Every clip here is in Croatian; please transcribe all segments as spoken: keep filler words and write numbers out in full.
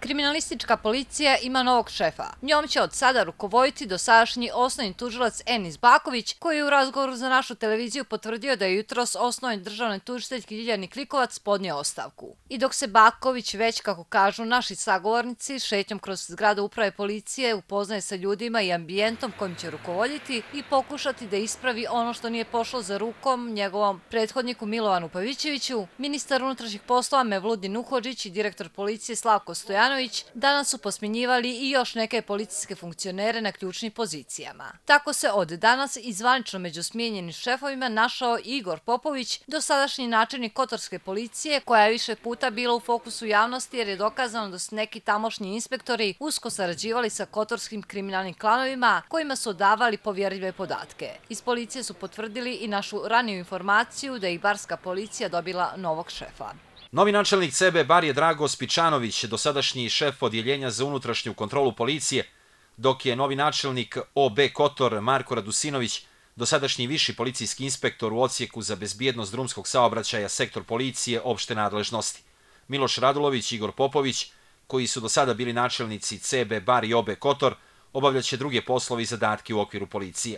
Kriminalistička policija ima novog šefa. Njom će od sada rukovoditi dosadašnji osnovni tužilac Enis Baković, koji je u razgovoru za našu televiziju potvrdio da je jutros osnovni državni tužiteljki Ljiljani Klikovac podnio ostavku. I dok se Baković već, kako kažu naši sagovornici, šetnjom kroz zgradu uprave policije upoznaje sa ljudima i ambijentom kojim će rukovoditi i pokušati da ispravi ono što nije pošlo za rukom njegovom prethodniku Milovanu Pavićeviću, ministar unutrašnjih poslova Mevludin Uhodžić i direktor policije Slavko Stojanović danas su posmenjivali i još neke policijske funkcionere na ključnim pozicijama. Tako se od danas i zvanično među smijenjenim šefovima našao Igor Popović, dosadašnji načelnik Kotorske policije, koja je više puta bila u fokusu javnosti jer je dokazano da su neki tamošnji inspektori usko sarađivali sa kotorskim kriminalnim klanovima kojima su davali povjerljive podatke. Iz policije su potvrdili i našu raniju informaciju da je i barska policija dobila novog šefa. Novi načelnik C B bar je Drago Spičanović, dosadašnji šef odjeljenja za unutrašnju kontrolu policije, dok je novi načelnik O B Kotor Marko Radusinović, dosadašnji viši policijski inspektor u odsjeku za bezbjednost drumskog saobraćaja sektor policije opšte nadležnosti. Miloš Radulović i Igor Popović, koji su do sada bili načelnici C B bar i O B Kotor, obavljaće druge poslove i zadatke u okviru policije.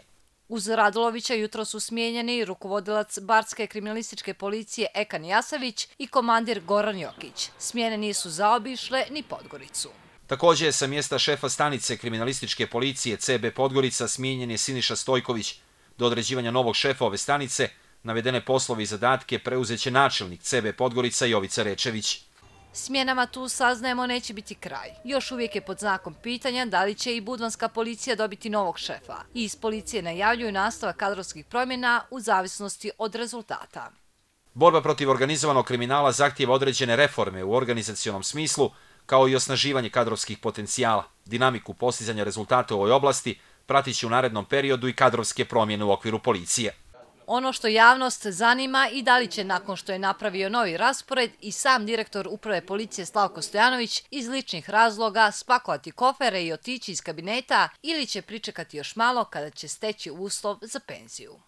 Uz Radulovića jutro su smijenjeni rukovodilac barske kriminalističke policije Ekan Jasavić i komandir Goran Jokić. Smjene nisu zaobišle ni Podgoricu. Također sa mjesta šefa stanice kriminalističke policije C B Podgorica smijenjen je Siniša Stojković. Do određivanja novog šefa ove stanice navedene poslove i zadatke preuzeće načelnik C B Podgorica Jovica Rečević. Smjenama tu, saznajemo, neće biti kraj. Još uvijek je pod znakom pitanja da li će i budvanska policija dobiti novog šefa. I iz policije najavljuju nastavak kadrovskih promjena u zavisnosti od rezultata. Borba protiv organizovanog kriminala zahtijeva određene reforme u organizacionom smislu, kao i osnaživanje kadrovskih potencijala. Dinamiku postizanja rezultata u ovoj oblasti pratit će u narednom periodu i kadrovske promjene u okviru policije. Ono što javnost zanima i da li će, nakon što je napravio novi raspored, i sam direktor uprave policije Slavko Stojanović iz ličnih razloga spakovati kofere i otići iz kabineta ili će pričekati još malo kada će steći uslov za penziju.